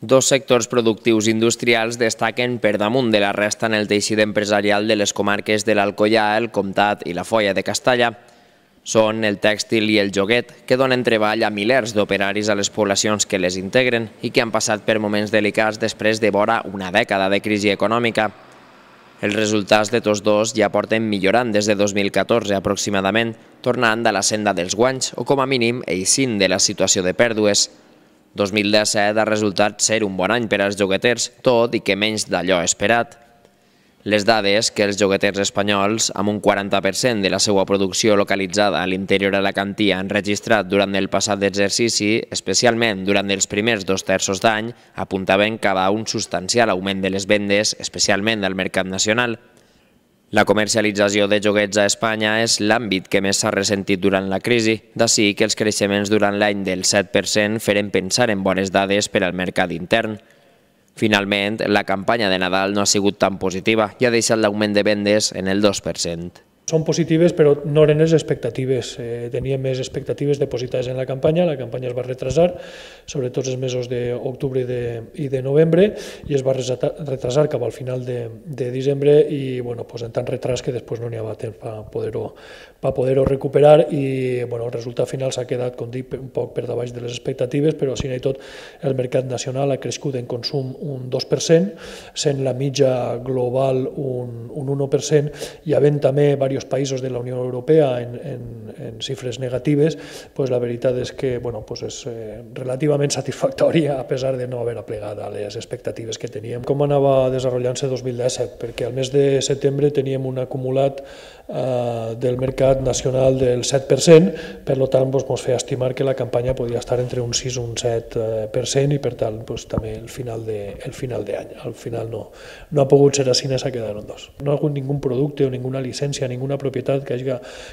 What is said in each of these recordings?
Dos sectors productius industrials destaquen per damunt de la resta en el teixit empresarial de les comarques de l'Alcoià, el Comtat i la Foia de Castalla. Són el tèxtil i el joguet, que donen treball a milers d'operaris a les poblacions que les integren i que han passat per moments delicats després de vora una dècada de crisi econòmica. Els resultats de tots dos ja porten millorant des de 2014 aproximadament, tornant a la senda dels guanys o com a mínim eixint de la situació de pèrdues. 2017 ha resultat ser un bon any per als jogueters, tot i que menys d'allò esperat. Les dades que els jogueters espanyols, amb un 40% de la seva producció localitzada a l'interior alacantí, han registrat durant el passat exercici, especialment durant els primers 2 terços d'any, apuntaven cap a un substancial augment de les vendes, especialment al mercat nacional. La comercialització de joguets a Espanya és l'àmbit que més s'ha ressentit durant la crisi, d'ací que els creixements durant l'any del 7% feren pensar en bones dades per al mercat intern. Finalment, la campanya de Nadal no ha sigut tan positiva i ha deixat l'augment de vendes en el 2%. Són positives, però no eren les expectatives. Teníem més expectatives depositades en la campanya es va retrasar, sobretot els mesos d'octubre i de novembre, i es va retrasar cap al final de desembre, i en tant retras que després no n'hi havia temps per poder-ho recuperar, i el resultat final s'ha quedat, com dic, un poc per davall de les expectatives, però si no hi tot, el mercat nacional ha crescut en consum un 2%, sent la mitja global un 1%, i havent també diversos països de la Unió Europea en xifres negatives, la veritat és que és relativament satisfactòria a pesar de no haver aplegat a les expectatives que teníem. Com anava desenvolupant-se 2017? Perquè al mes de setembre teníem un acumulat del mercat nacional del 7%, per tant ens feia estimar que la campanya podia estar entre un 6 i un 7% i per tant també el final d'any. Al final no ha pogut ser així, s'ha quedat en 2. No ha hagut ningú producte o ninguna llicència, ninguna propietat que hagi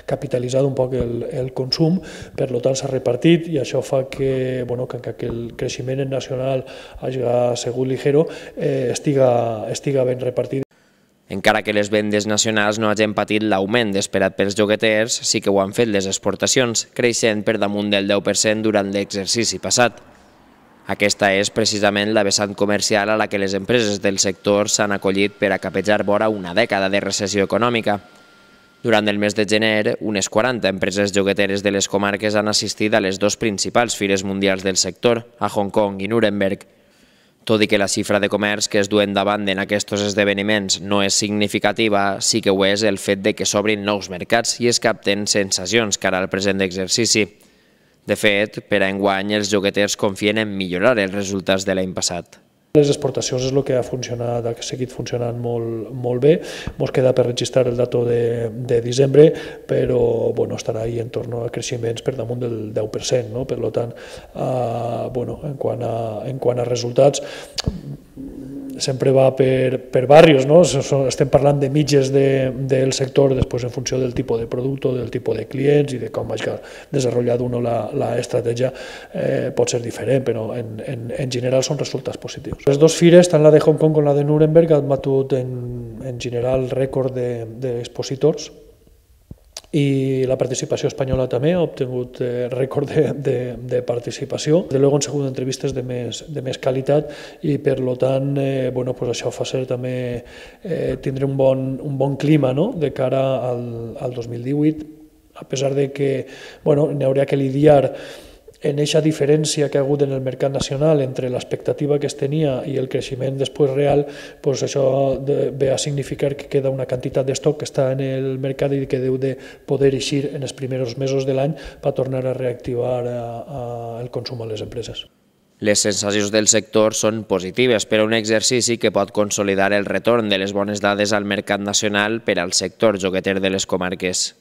capitalitzat un poc el consum, per tant s'ha repartit i això fa que el creixement nacional hagi sigut ligero, estiga ben repartit. Encara que les vendes nacionals no hagin patit l'augment esperat pels jogueters, sí que ho han fet les exportacions, creixent per damunt del 10% durant l'exercici passat. Aquesta és precisament la vessant comercial a la que les empreses del sector s'han acollit per a capejar vora una dècada de recessió econòmica. Durant el mes de gener, unes 40 empreses jogueteres de les comarques han assistit a les 2 principals fires mundials del sector, a Hong Kong i Nuremberg. Tot i que la xifra de comerç que es duen davant en aquests esdeveniments no és significativa, sí que ho és el fet de que s'obrin nous mercats i es capten sensacions cara al present exercici. De fet, per a enguany, els jogueters confien en millorar els resultats de l'any passat. Les exportacions és el que ha seguit funcionant molt bé. Ens queda per registrar el dato de desembre, però estarà ahí en torno a creixements per damunt del 10%. Per tant, en quant a resultats, sempre va per barris, estem parlant de mitges del sector, després en funció del tipus de producte, del tipus de clients i de com hagi desenvolupat uno l'estratègia pot ser diferent, però en general són resultats positius. Les 2 fires, tant la de Hong Kong com la de Nuremberg, han batut en general rècord d'expositors, i la participació espanyola també ha obtingut rècord de participació. De luego han sigut entrevistes de més qualitat i per tant això fa ser també tindre un bon clima de cara al 2018, a pesar de que n'hi hauria que lidiar en aquesta diferència que ha hagut en el mercat nacional entre l'expectativa que es tenia i el creixement després real, això ve a significar que queda una quantitat d'estoc que està en el mercat i que deu de poder eixir en els primers mesos de l'any per tornar a reactivar el consum a les empreses. Les sensacions del sector són positives per a un exercici que pot consolidar el retorn de les bones dades al mercat nacional per al sector jogueter de les comarques.